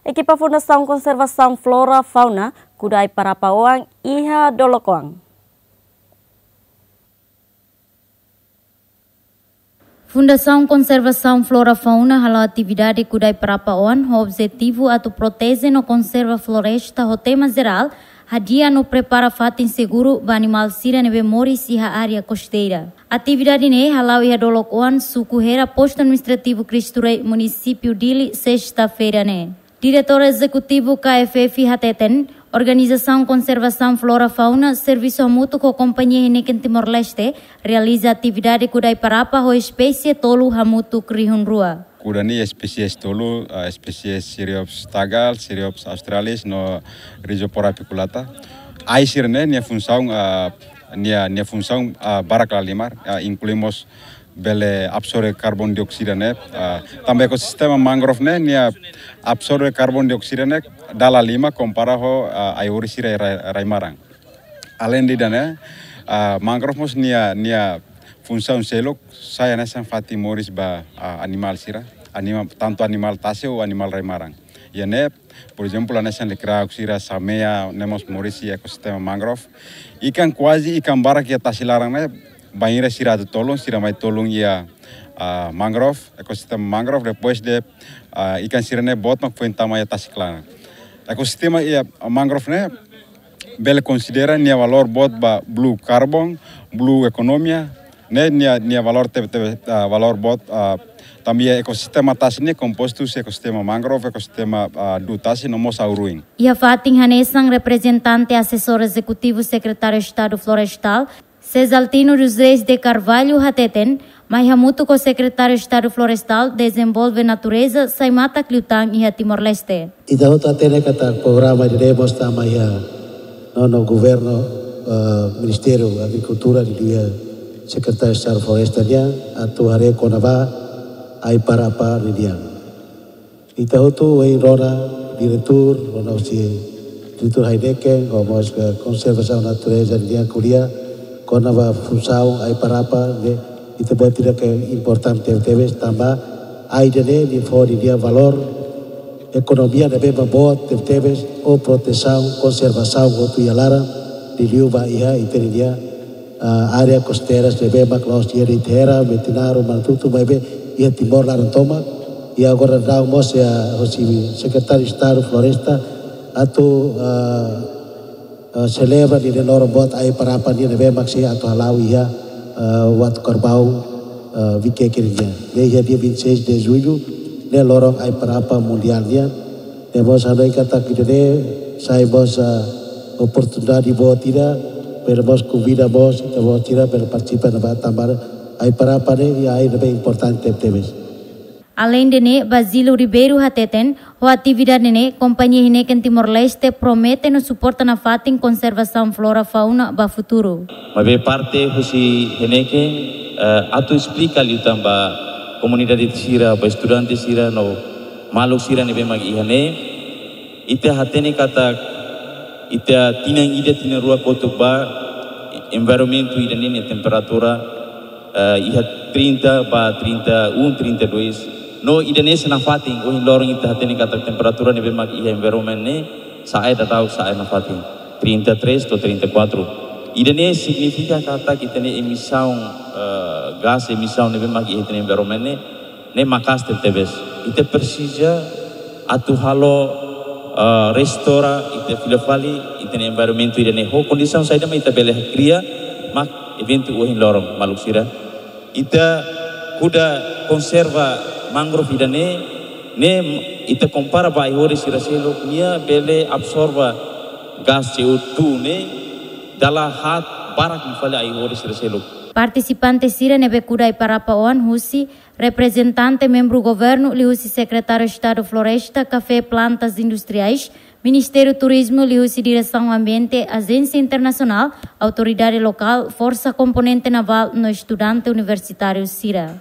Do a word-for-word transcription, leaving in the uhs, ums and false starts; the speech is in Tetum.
Ekipa Fundasaun Konservasaun Flora Fauna kuda ai-parapa oan iha Dolokoan. Fundasaun Konservasaun Flora Fauna hala'o atividade kuda ai-parapa oan ho objetivu atu proteje no konserva floresta ho tema jerál, hadi'a no prepara fatin seguru ba animál sira ne'ebé moris iha área kosteira. Atividade ne'e hala'o iha Dolokoan, suku Hera, postu administrativu Cristo Rei, munisípiu Dili, sesta-feira ne'e. Diretór Ezekutivu K F F hateten, Organizasaun Konservasaun Flora Fauna servisu hamutuk ho Kompañia Heineken Timor-Leste realiza atividade kuda ai-parapa ho espésie tolu hamutuk rihun rua. Kuda nia espésie tolu, ah, espésie Siriops tagal, Siriops australis no Rhizophora apiculata. Ai sira-ne'e nia funsaun, ah, nia, nia funsaun, ah, barak lahalimar, ah, inklui mós bele absorve karbon dioksida ne'e. Ah, tanba ekosistema mangrove ne'e nia absorve karbon dioksida ne'e dala lima kompara ho, ah, ai-horis sira rai, rai-maran. Aleinde ida-ne'e, ah, mangrove mós nia, nia funsaun seluk sai hanesan fatin moris ba, ah, animál sira, anima-, tantu animál tasi ou animál rai-maran. Iha ne'e, por ezemplu, hanesan lekirauk sira, samea, ne'e mós moris iha ekosistema mangrove. Ikan kuaze, ikan barak iha tasi laran ne'e, bainhira sira atu tolun, sira mai tolun iha, ah, mangrove, ekosistema mangrove, depois de, ah, ikan sira-ne'e boot mak foin tama iha tasi laran. Ekosistema iha mangrove ne'e bele konsidera nia valór boot ba blue carbon, blue ekonomia, ne'e nia, nia valór tebe-tebe, ah, valór boot, ah, tanba ekosistema tasi ne'e kompostu husi ekosistema mangrove, ekosistema, ah, du'ut tasi no mós au-ruin. Iha fatin hanesan, reprezentante asesór ezekutivu Sekretáriu Estadu Florestál, Cesaltino dos Reis de Carvalho hateten, mai hamutuk ho Sekretáriu Estadu Florestál dezenvolve natureza sai matak liután iha Timor-Leste. Ita hotu hatene katak programa ida-ne'e mós tama iha nonu governu, eh, Ministériu Agrikultura liuliu Sekretáriu Estadu Floresta nian atu haree kona-ba ai-parapa ninian. Ita hotu ohin rona diretór, rona husi diretór Heineken, ho mós, eh, konservasaun natureza nian ko'alia kona-ba funsaun ai-parapa ne'e, ita-boot hatene katak importante tebes tanba ai ida-ne'e nia fó nia valór ekonomia ne'ebé boot tebetebes, ho protesaun, konservasaun hotu iha laran, liuliu ba iha ita-nia, ah, área kosteiras ne'ebé mak la'ós iha Rihun, Metinaro, Manatutu, maibé iha Timor laran tomak. I agora daudaun mós iha husi Sekretáriu Estadu Floresta atu, ah, ah, selebra nia loron boot ai-parapa nian ne'ebé mak sei atu hala'o iha, ah, Watu Karbau, ah, Vikeke nian. Ne'e iha dia vinte e seis de julho, ne'e loron ai-parapa mundiál nian. Ne'e mós hanoin katak ida-ne'e sai mós, ah, oportunidade boot ida, bele mós konvida mós ita-boot sira bele partisipa iha ne'ebá tanba ai-parapa ne'e iha ai ne'ebé importante tebes. Aleinde ne'e, Basílio Ribeiro hateten, ho atividade ne'e, Kompañia Heineken Timor-Leste promete no suporta nafatin konservasaun flora fauna ba futuru. Maibé parte husi Heineken, eh, atu esplika liután ba komunidade sira, ba estudante sira no maluk sira ne'ebé mak iha ne'e. Ita hatene katak ita tinan ida, tinan rua kotuk ba, environmentu ida-ne'e nia temperatura, eh, iha trinta ba trinta e um, trinta e dois. No ida-ne'e sei nafatin, ohin loron ita hatene katak temperatura ne'ebé mak iha environment ne'e sa'e daudaun, sa'e nafatin, trinta e três to'o trinta e quatro. Ida-ne'e signifika katak ita-nia emisaun, eh, gás emisaun ne'ebé mak iha ita-nia environment ne'e, ne'e maka'as tebetebes. Ita presiza atu halo, eh, restaura, ita fila fali ita-nia environmentu ida-ne'e. Ho kondisaun saida mak ita bele kria mak eventu ohin loron, maluk sira. Ita kuda konserva mangrove ida-ne'e, ne'e ita kompara ba ai-horis sira seluk, nia bele absorve gás C O dois ne'e dala haat barak liu fali ai-horis sira seluk. Partisipante sira ne'ebé kuda ai-parapa oan husi reprezentante membru governu liuhusi Sekretáriu Estadu Floresta, Kafé, Plantas Industriais, Ministériu Turizmu liuhusi Diresaun Ambiente, ajénsia internasionál, autoridade lokál, forsa komponente navál no estudante universitáriu sira.